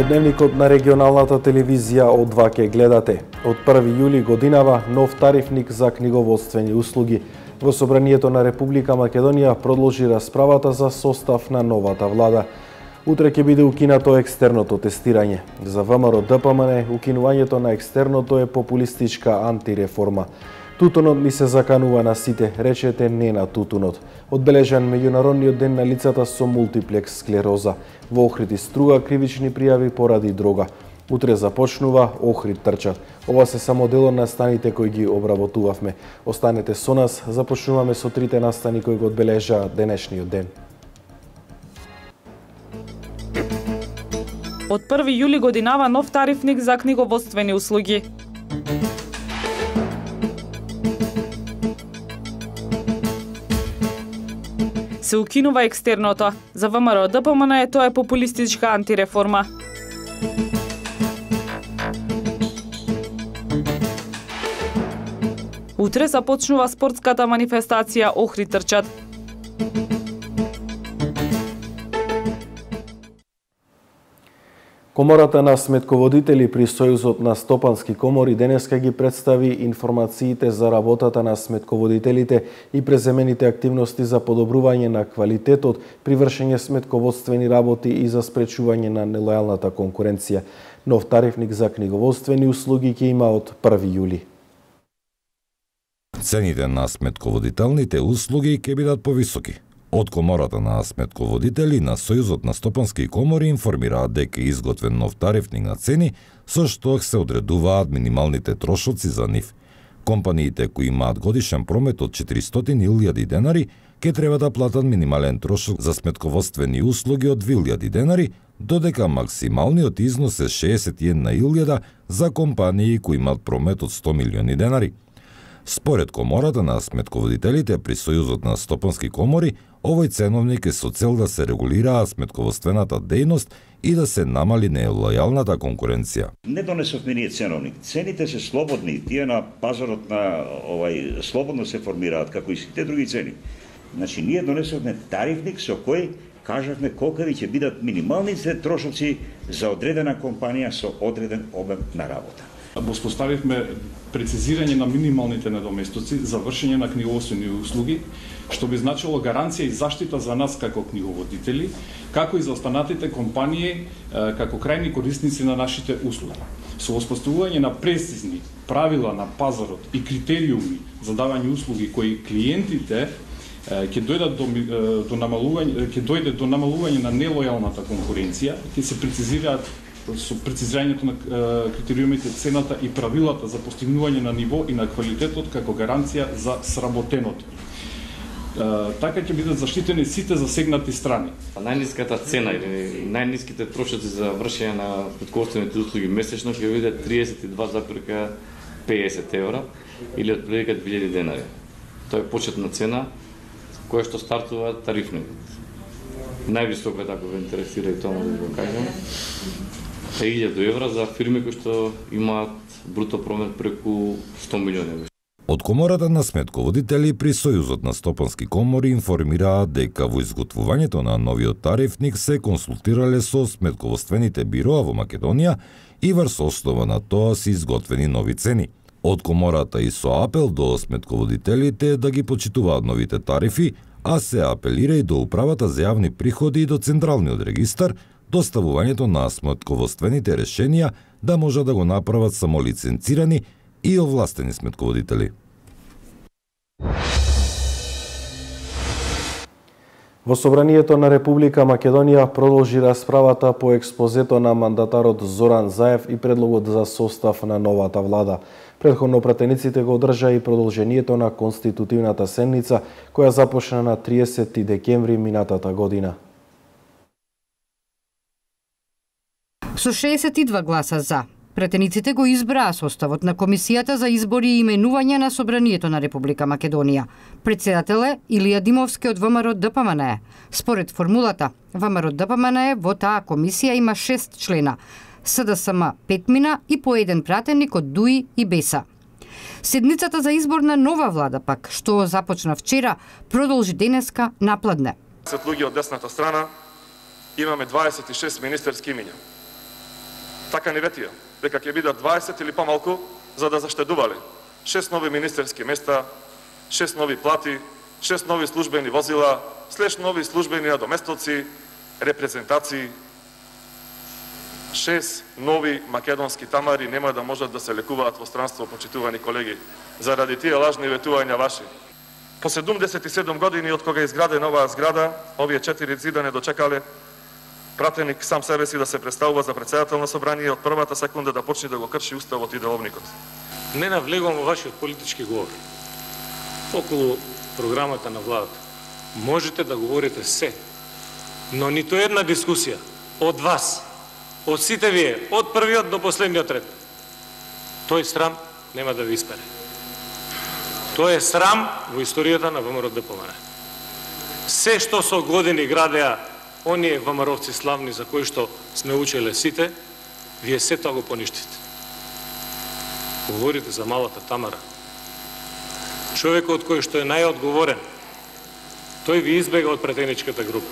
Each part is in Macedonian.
Во дневникот на регионалната телевизија од 2 ке гледате. Од 1 јули годинава нов тарифник за книговодствени услуги. Во Собранието на Република Македонија продолжи расправата за состав на новата влада. Утре ќе биде укинато екстерното тестирање. За ВМРО ДПМН укинувањето на екстерното е популистичка антиреформа. Тутунот ми се заканува на сите, речете не на тутунот. Одбележан меѓународниот ден на лицата со мултиплекс склероза. Во Охрид струга кривични пријави поради дрога. Утре започнува Охрид трчат. Ова се само дел од настаните кои ги обработувавме. Останете со нас, започнуваме со трите настани кои го одбележаат денешниот ден. Од 1 јули годинава нов тарифник за книговодствени услуги. Се укинува екстерното. За ВМРО ДПМН тоа е популистичка антиреформа. Утре започнува спортската манифестација Охрид трчат. Комората на сметководители при Сојузот на стопански комори денеска ги представи информациите за работата на сметководителите и преземените активности за подобрување на квалитетот при вршење сметководствени работи и за спречување на нелојалната конкуренција. Нов тарифник за книговодствени услуги ќе има од 1 јули. Цените на сметководителните услуги ќе бидат повисоки. Од Комората на сметководители на Сојузот на стопански комори информираат дека е изготвен нов тарифник на цени со што се одредуваат минималните трошоци за нив. Компаниите кои имаат годишен промет од 400.000 денари ќе треба да платат минимален трошок за сметководствени услуги од 2.000 денари, додека максималниот износ е 61.000 за компании кои имаат промет од 100 милиони денари. Според Комората на сметководителите при Сојузот на стопански комори, овој ценовник е со цел да се регулираа сметководствената дејност и да се намали нелојалната конкуренција. Не донесовме ние ценовник. Цените се слободни, тие на пазарот на слободно се формираат како и сите други цени. Значи ние донесовме тарифник со кој кажавме колкави ќе бидат минималните трошоци за одредена компанија со одреден обем на работа. Воспоставивме прецизирање на минималните недоместоци за вршење на книговодствени услуги, што би значило гаранција и заштита за нас како книговодители, како и за останатите компании како крајни корисници на нашите услуги. Со воспоставување на прецизни правила на пазарот и критериуми за давање услуги кои клиентите ќе дојдат до намалување на нелојалната конкуренција, ќе се прецизираат со прецизирањето на критериумите, цената и правилата за постигнување на ниво и на квалитетот како гаранција за сработеното. Така ќе бидат заштитени сите засегнати страни. Најниската цена или најниските трошоци за вршење на сметководствените услуги месечно ќе биде 32,50 евра или отприлика 2000 денари. Тоа е почетна цена која што стартува тарифникот. Највисоко е, ако ве интересира и тоа може да го кажем, 3000 евра за фирми кои што имаат бруто промет преку 100 милиони. Од Комората на сметководители при Сојузот на стопански комори информираат дека во изготвувањето на новиот тарифник се консултирале со сметководствените бироа во Македонија и врз основа на тоа се изготвени нови цени. Од Комората и со апел до сметководителите да ги почитуваат новите тарифи, а се апелира и до Управата за јавни приходи и до Централниот регистар, доставувањето на сметководствените решенија да може да го направат само лиценцирани и овластени сметководители. Во Собранието на Република Македонија продолжи расправата по експозето на мандатарот Зоран Заев и предлогот за состав на новата влада. Претходно пратениците го одржа и продолжението на конститутивната седница, која започна на 30 декември минатата година. Со 62 гласа за, пратениците го избраа составот на Комисијата за избори и именување на Собранието на Република Македонија. Председател е Илија Димовски од ВМРО ДПМН. Според формулата, ВМРО ДПМН во таа комисија има 6 члена, СДСМ 5 и по еден пратеник од ДУИ и БЕСА. Седницата за избор на нова влада пак, што започна вчера, продолжи денеска напладне. Сет луѓе од десната страна имаме 26 министерски имиња. Така ни ветија, дека ќе бидат 20 или помалку за да заштедувале 6 нови министерски места, 6 нови плати, 6 нови службени возила, слеш нови службени надоместоци, репрезентации. 6 нови македонски тамари нема да можат да се лекуваат во странство, почитувани колеги, заради тие лажни ветувања ваши. По 77 години од кога е изградена оваа зграда, овие 4 зида не дочекале пратеник сам себе си да се представува за председател на собрание од првата секунда да почне да го крши уставот и деловникот. Не навлегувам во вашиот политички говор околу програмата на владата. Можете да говорите се, но ниту една дискусија од вас, од сите вие, од првиот до последниот ред, тој срам нема да ви испере. Тој е срам во историјата на ВМРО ДПМН. Се што со години градеа оние ВМРО-вци славни за кои што сме учеле сите, вие се тоа го поништите. Говорите за малата Тамара. Човекот кој што е најодговорен, тој ви избега од претеничката група.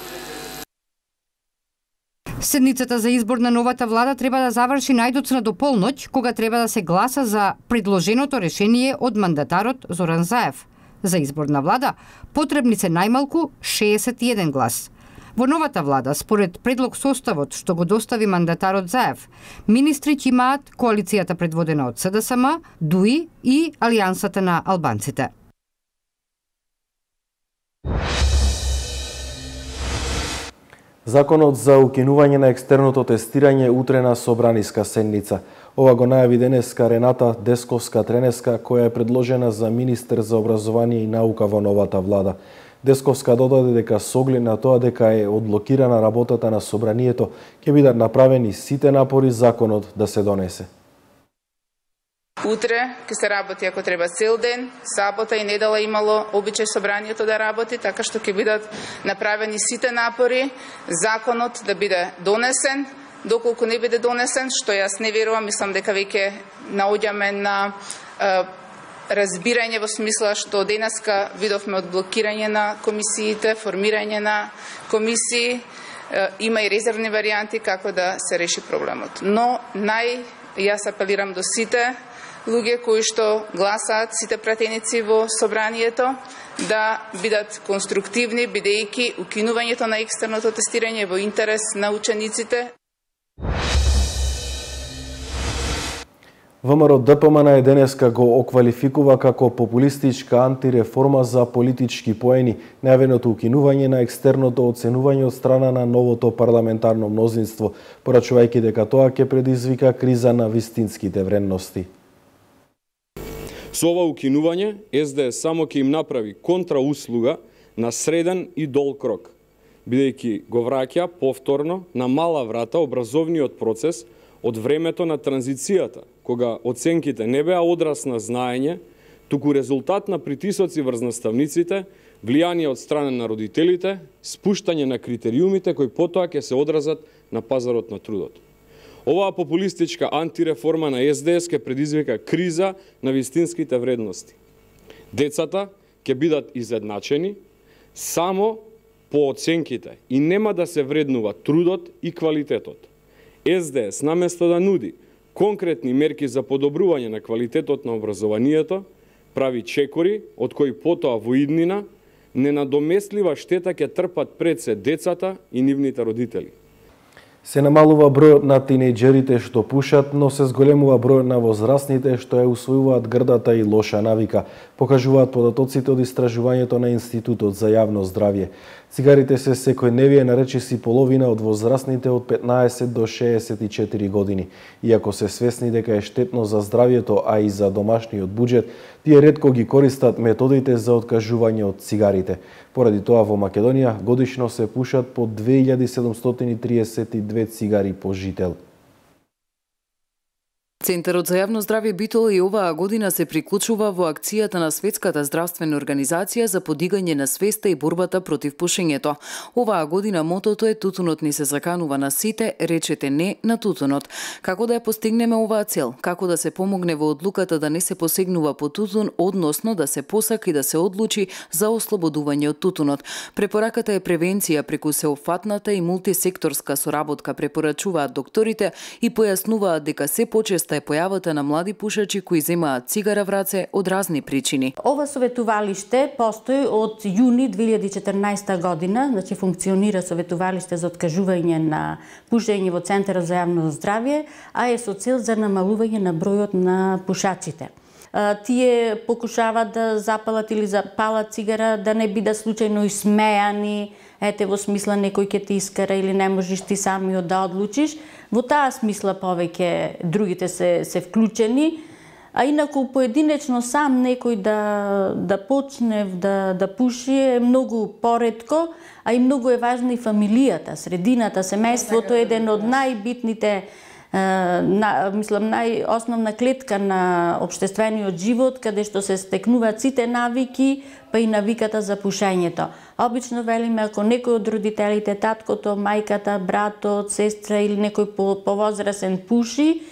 Седницата за избор на новата влада треба да заврши најдоцна до полноќ, кога треба да се гласа за предложеното решение од мандатарот Зоран Заев. За избор на влада потребни се најмалку 61 глас. Во новата влада, според предлог составот што го достави мандатарот Заев, министри ќе имаат коалицијата предводена од СДСМ, ДУИ и Алијансата на албанците. Законот за укинување на екстерното тестирање утре на собраниска седница. Ова го најави денеска Рената Десковска-Тренеска, која е предложена за министер за образование и наука во новата влада. Десковска додаде дека со оглед на тоа дека е одблокирана работата на собранието, ќе бидат направени сите напори законот да се донесе. Утре ќе се работи ако треба цел ден, сабота и недела имало обичај собранието да работи, така што ќе бидат направени сите напори законот да биде донесен. Доколку не биде донесен, што јас не верувам, мислам дека веќе наоѓаме на разбирање во смисла што денеска видовме одблокирање на комисиите, формирање на комисии, има и резервни варијанти како да се реши проблемот. Но јас апелирам до сите луѓе кои што гласаат, сите пратеници во собранието, да бидат конструктивни, бидејќи укинувањето на екстерното тестирање во интерес на учениците. ВМРО ДПМН денеска го оквалификува како популистичка антиреформа за политички поени најавеното укинување на екстерното оценување од страна на новото парламентарно мнозинство, порачувајќи дека тоа ќе предизвика криза на вистинските вредности. Со ова укинување, СДС само ќе им направи контрауслуга на среден и долг рок, бидејќи го враќа повторно на мала врата образовниот процес од времето на транзицијата, кога оценките не беа одраз на знаење, туку резултат на притисоци врз наставниците, влијание од страна на родителите, спуштање на критериумите кои потоа ќе се одразат на пазарот на трудот. Оваа популистичка антиреформа на СДС ќе предизвика криза на вистинските вредности. Децата ќе бидат изедначени само по оценките и нема да се вреднува трудот и квалитетот. СДС наместо да нуди конкретни мерки за подобрување на квалитетот на образованието, прави чекори од кои потоа во иднина ненадомеслива штета ќе трпат пред се децата и нивните родители. Се намалува бројот на тинејџерите што пушат, но се зголемува бројот на возрастните што ја усвојуваат грдата и лоша навика, покажуваат податоците од истражувањето на Институтот за јавно здравје. Цигарите се секојдневие на речиси половина од возрастните од 15 до 64 години. Иако се свесни дека е штетно за здравјето, а и за домашниот буџет, тие ретко ги користат методите за откажување од цигарите. Поради тоа во Македонија годишно се пушат по 2732 цигари по жител. Центарот за јавно здравје Битола и оваа година се приклучува во акцијата на Светската здравствена организација за подигање на свеста и борбата против пушењето. Оваа година мотото е "Тутунот ни се заканува на сите, речете не на тутунот". Како да ја постигнеме оваа цел? Како да се помогне во одлуката да не се посегнува по тутун, односно да се посака и да се одлучи за ослободување од тутунот? Препораката е превенција преку сеопфатната и мултисекторска соработка, препорачуваат докторите и појаснуваат дека се почесто е појавата на млади пушачи кои земаат цигара в раце од разни причини. Ова советувалиште постои од јуни 2014 година, значи функционира советувалиште за откажување на пушење во Центарот за јавно здравје, а е со цел за намалување на бројот на пушачите. Тие покушаваат да запалат или запалат цигара, да не бидат случајно исмејани, ете во смисла некој ќе те искара или не можеш ти самиот да одлучиш. Во таа смисла повеќе другите се вклучени, а инаку поединечно сам некој да почне да пуши е многу поретко, а и многу е важна и фамилијата, средината, семејството е еден од најбитните најосновна клетка на општествениот живот, каде што се стекнуваат сите навики, па и навиката за пушењето. Обично велиме, ако некој од родителите, таткото, мајката, братот, сестра или некој повозрасен пуши,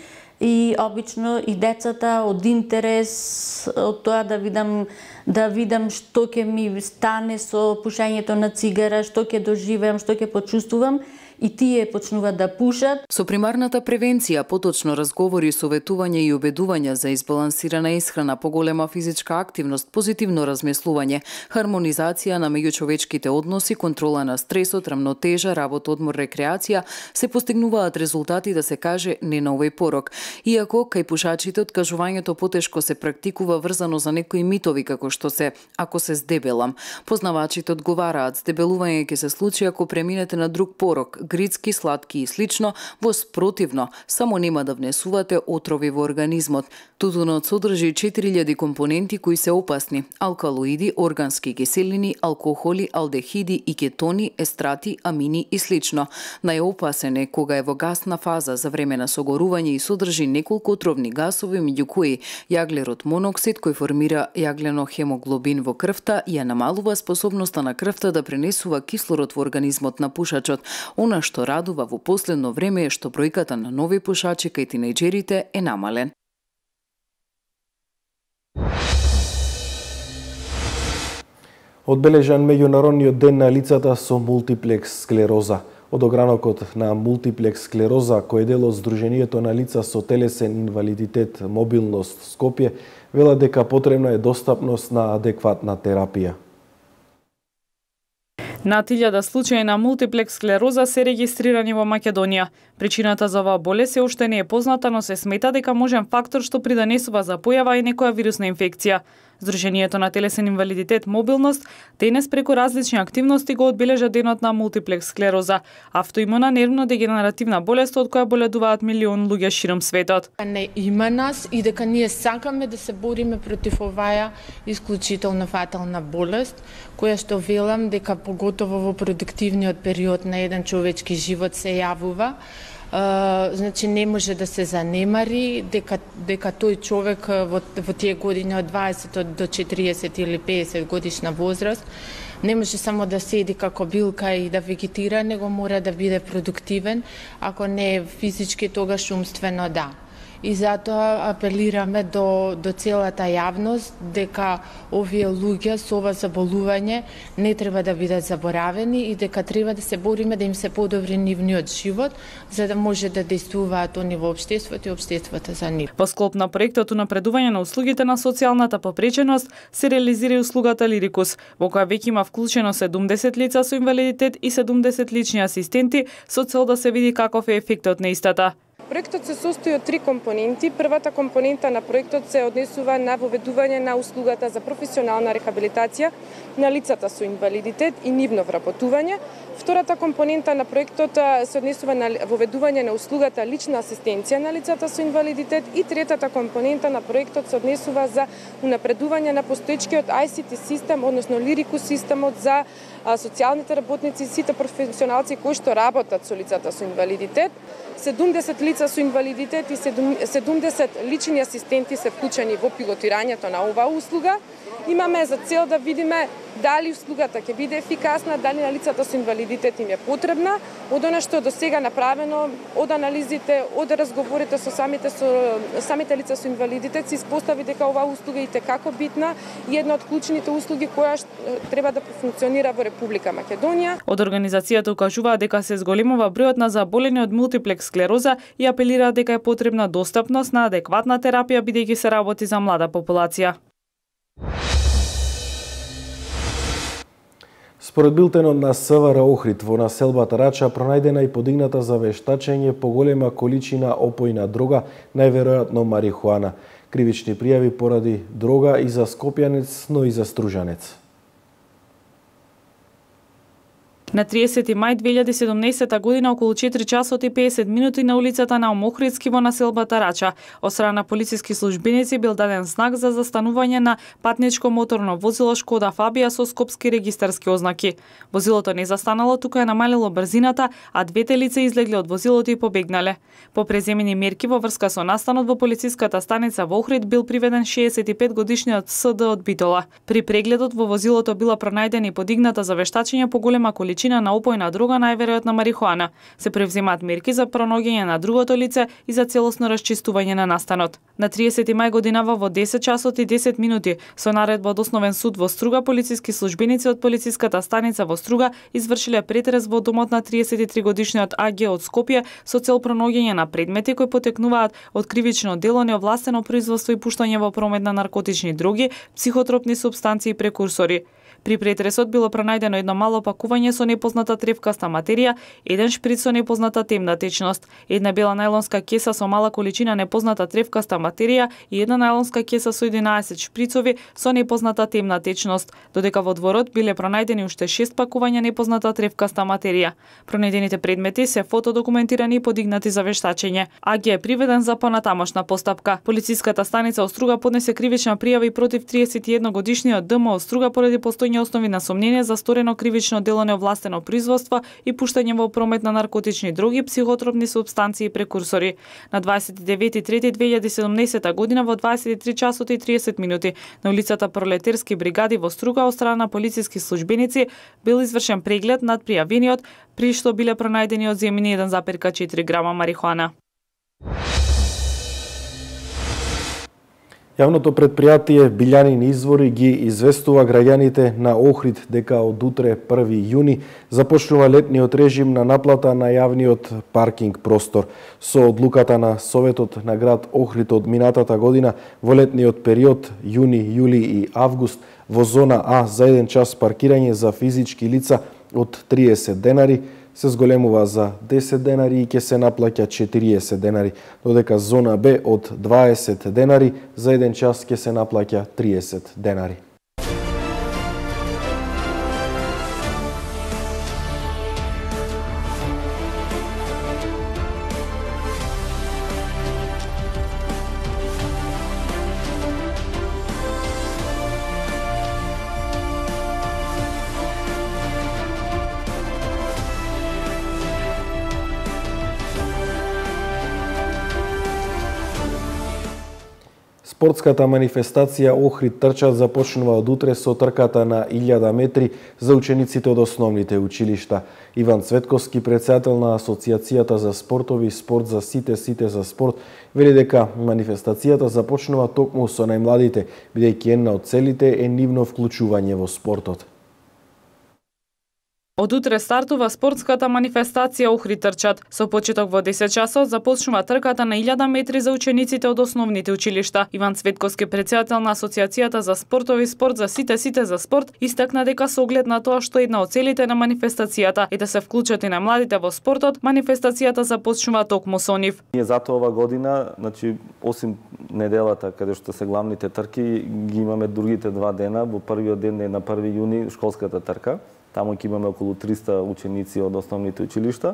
и обично и децата од интерес од тоа да видам што ќе ми стане со пушењето на цигара, што ќе доживеам, што ќе почувствувам, и тие почнуваат да пушат. Со примарната превенција, поточно разговори, советување и убедување за избалансирана исхрана, поголема физичка активност, позитивно размислување, хармонизација на меѓучовечките односи, контрола на стресот, рамнотежа, работа, одмор, рекреација, се постигнуваат резултати, да се каже, не на овој порок. Иако кај пушачите откажувањето потешко се практикува врзано за некои митови како што се ако се здебелам. Познавачите одговараат, здебелување ќе се случи ако преминете на друг порок, грицки, сладки и слично, во спротивно, само нема да внесувате отрови во организмот. Тутунот содржи 4000 компоненти кои се опасни: алкалоиди, органски киселини, алкохоли, алдехиди и кетони, естрати, амини и слично. Најопасен е кога е во гасна фаза за време на согорување и содржи неколку отровни гасови, меѓу кои јаглерод моноксид кој формира јагленохемоглобин во крвта и ја намалува способноста на крвта да пренесува кислород во организмот на пушачот. Она што радува во последно време е што бројката на нови пушачи кај тинејџерите е намален. Одбележан меѓународниот ден на лицата со мултиплекс склероза. Од огранокот на мултиплекс склероза, кој е дел од Сдруженијето на лица со телесен инвалидитет Мобилност Скопје, вела дека потребна е достапност на адекватна терапија. Над 1000 случаи на мултиплекс склероза се регистрирани во Македонија. Причината за оваа болест се уште не е позната, но се смета дека можен фактор што придонесува за појава и некоја вирусна инфекција. Сдруженијето на телесен инвалидитет Мобилност денес преку различни активности го одбележа денот на мултиплекс склероза, автоимуна нервно-дегенеративна болест од која боледуваат милион луѓе широм светот. Не има нас и дека ние сакаме да се бориме против оваа исклучително фатална болест, која што велам дека поготово во продуктивниот период на еден човечки живот се јавува. Значи не може да се занемари дека тој човек во тие години од 20 до 40 или 50 годишна возраст не може само да седи како билка и да вегетира, него мора да биде продуктивен, ако не е физички, тогаш умствено да. И затоа апелираме до целата јавност дека овие луѓе со ова заболување не треба да бидат заборавени и дека треба да се бориме да им се подобри нивниот живот, за да може да действуваат они во општеството и општеството за нив. Во склоп на проектот унапредување на услугите на социјалната попреченост се реализира и услугата Лирикус, во која веќе има вклучено 70 лица со инвалидитет и 70 лични асистенти со цел да се види каков е ефектот на истата. Проектот се состои од 3 компоненти. Првата компонента на проектот се однесува на воведување на услугата за професионална рехабилитација на лицата со инвалидитет и нивно вработување. Втората компонента на проектот се однесува на воведување на услугата лична асистенција на лицата со инвалидитет и третата компонента на проектот се однесува за унапредување на постоечкиот ICT систем, односно Лирикус системот за социјалните работници и сите професионалци кои што работат со лицата со инвалидитет. 70 лица со инвалидитет и 70 лични асистенти се вклучени во пилотирањето на оваа услуга. Имаме за цел да видиме дали услугата ќе биде ефикасна, дали на лицата со инвалидитет им е потребна. Од она што до сега направено, од анализите, од разговорите со самите лица со инвалидитет, се испостави дека оваа услуга е итекако битна и една од клучните услуги која треба да функционира во Република Македонија. Од организацијата укажуваат дека се зголемува бројот на заболени од мултиплекс склероза и апелираат дека е потребна достапност на адекватна терапија бидејќи се работи за млада популација. Според билтенот на СВР Охрид, во населбата Рача пронајдена и подигната за вештачење поголема количина опојна дрога, најверојатно марихуана. Кривични пријави поради дрога и за Скопјанец, но и за Стружанец. На 30 мај 2017 година околу 4 часот и 50 минути на улицата на Омохридски во населбата Рача, од страна на полициски службеници бил даден знак за застанување на патничко моторно возило Шкода Фабија со скопски регистарски ознаки. Возилото не застанало, тука е намалило брзината, а двете лица излегле од возилото и побегнале. По преземени мерки во врска со настанот во полициската станица во Охрид бил приведен 65 годишниот СД од Битола. При прегледот во возилото била пронајдена и подигната за вештачење поголема количина на опојна дрога, најверојатно марихуана. Се превземаат мерки за пронаоѓање на другото лице и за целосно расчистување на настанот. На 30 мај годинава во 10 часот и 10 минути со наредба од Основен суд во Струга, полициски службеници од полициската станица во Струга извршиле претрес во домот на 33 годишниот АГ од Скопје со цел пронаоѓање на предмети кои потекнуваат од кривично дело, неовластено производство и пуштање во промет на наркотични дроги, психотропни супстанции и прекурсори. При претресот било пронајдено едно мало пакување со непозната тревкаста материја, еден шприц со непозната темна течност, една бела најлонска кеса со мала количина непозната тревкаста материја и една најлонска кеса со 11 шприцови со непозната темна течност, додека во дворот биле пронајдени уште 6 пакувања непозната тревкаста материја. Пронајдените предмети се фотодокументирани и подигнати за вештачење. АГ е приведен за понатамошна постапка. Полициската станица Оструга поднесе кривична пријава и против 31 годишниот ДМ Оструга поради постојање основи на сомнение за сторено кривично дело неовластено производство и пуштање во промет на наркотични дроги, психотропни супстанции и прекурсори. На 29.3.2017 година во 23 часот и 30 минути на улицата Пролетерски бригади во Струга од страна на полициски службеници бил извршен преглед над пријавениот, при што биле пронајдени одземени 1,4 грама марихуана. Јавното предпријатие Билјанин извори ги известува граѓаните на Охрид дека од утре 1 јуни започнува летниот режим на наплата на јавниот паркинг простор. Со одлуката на Советот на град Охрид од минатата година во летниот период јуни, јули и август во зона А за 1 час паркирање за физички лица од 30 денари се зголемува за 10 денари и ќе се наплаќа 40 денари, додека зона Б од 20 денари за 1 час ќе се наплаќа 30 денари. Спортската манифестација Охрид трчат започнува од утре со трката на 1000 метри за учениците од основните училишта. Иван Цветковски, председател на Асоциацијата за спортови спорт за сите за спорт, вели дека манифестацијата започнува токму со најмладите, бидејќи една од целите е нивно вклучување во спортот. Од утре стартува спортската манифестација Охрид трчат. Со почеток во 10 часот започнува трката на 1000 метри за учениците од основните училишта. Иван Цветковски, председател на Асоциацијата за спортови спорт за сите за спорт, истакна дека со оглед на тоа што една од целите на манифестацијата е да се вклучат и на младите во спортот, манифестацијата започнува токму со нив. Ние затоа ова година, осим неделата каде што се главните трки, ги имаме другите 2 дена. Во првиот ден е на 1 јуни школската трка. Таму ќе имаме околу 300 ученици од основните училишта.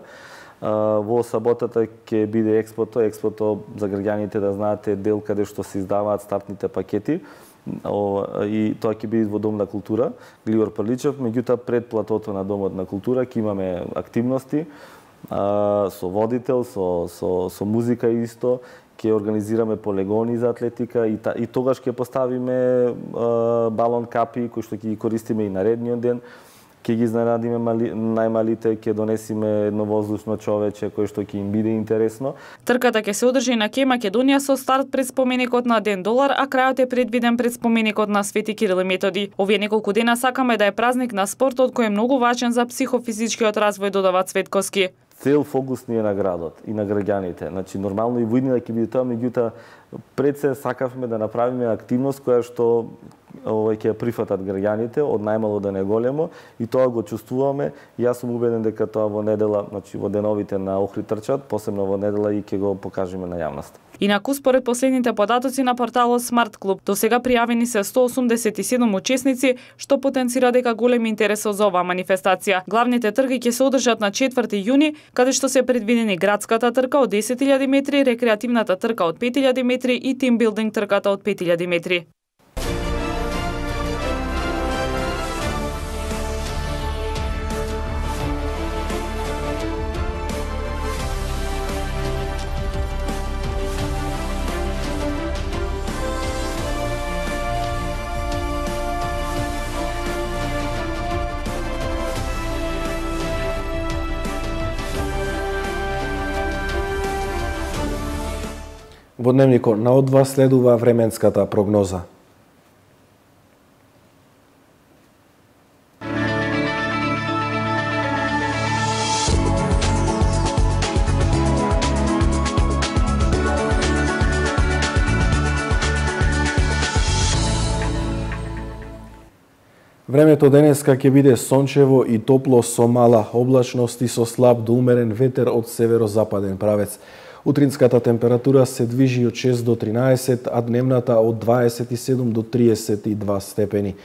Во саботата ќе биде експото. Експото, за граѓаните да знаете, дел каде што се издаваат стартните пакети. И тоа ќе биде во Дом на култура, Гливор Прличев. Меѓутоа, пред платото на Домот на култура ќе имаме активности. со водител, со музика исто, ќе организираме полегони за атлетика и тогаш ќе поставиме балон капи кои што ќе ги користиме и наредниот ден. Ќе ги изненадиме најмалите, ќе донесиме едно воздушно човече кој што ќе им биде интересно. Трката ќе се одржи на Ке Македонија со старт пред споменикот на Ден Долар, а крајот е предвиден пред споменикот на Свети Кирил и Методи. Овие неколку дена сакаме да е празник на спортот кој е многу важен за психофизичкиот развој, додава Цветковски. Цел фокус ни е на градот и на граѓаните. Значи нормално и во иднина ќе биде тоа, меѓутоа пред се сакавме да направиме активност која што ќе ја прифатат граѓаните од најмало до најголемо и тоа го чувствуваме. Јас сум убеден дека тоа во недела, значи во деновите на Охрид трчат, посебно во недела и ќе го покажеме на јавноста. Инаку, според последните податоци на порталот Smart Club, до сега пријавени се 187 учесници, што потенцира дека голем интерес за оваа манифестација. Главните трки ќе се одржат на 4 јуни, каде што се предвидени градската трка од 10.000 метри, рекреативната трка од 5.000 метри и тимбилдинг трката од 5.000 метри. Во дневникот на Од2 следува временската прогноза. Времето денеска ќе биде сончево и топло со мала облачност и со слаб до умерен ветер од северозападен правец. Утринската температура се движи од 6 до 13, а дневната од 27 до 32 степени.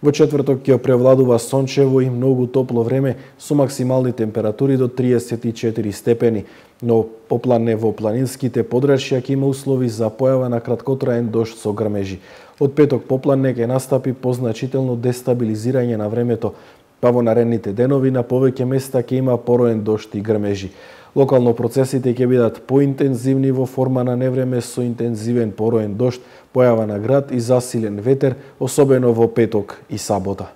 Во четврток ќе превладува сончево и многу топло време со максимални температури до 34 степени, но попладне во планинските подрачја ќе има услови за појава на краткотраен дожд со грмежи. Од петок попладне ќе настапи позначително дестабилизирање на времето, па во наредните денови на повеќе места ќе има пороен дожд и грмежи. Локално процесите ќе бидат поинтензивни во форма на невреме со интензивен пороен дожд, појава на град и засилен ветер, особено во петок и сабота.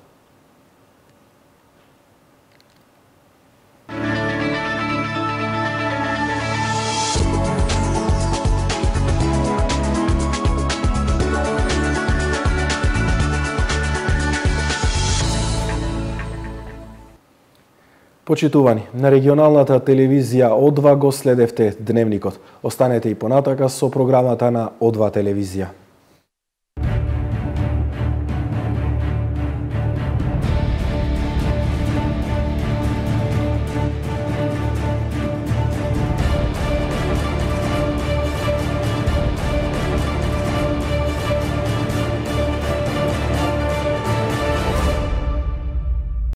Почитувани, на регионалната телевизија Од2 го следевте дневникот. Останете и понатака со програмата на Од2 телевизија.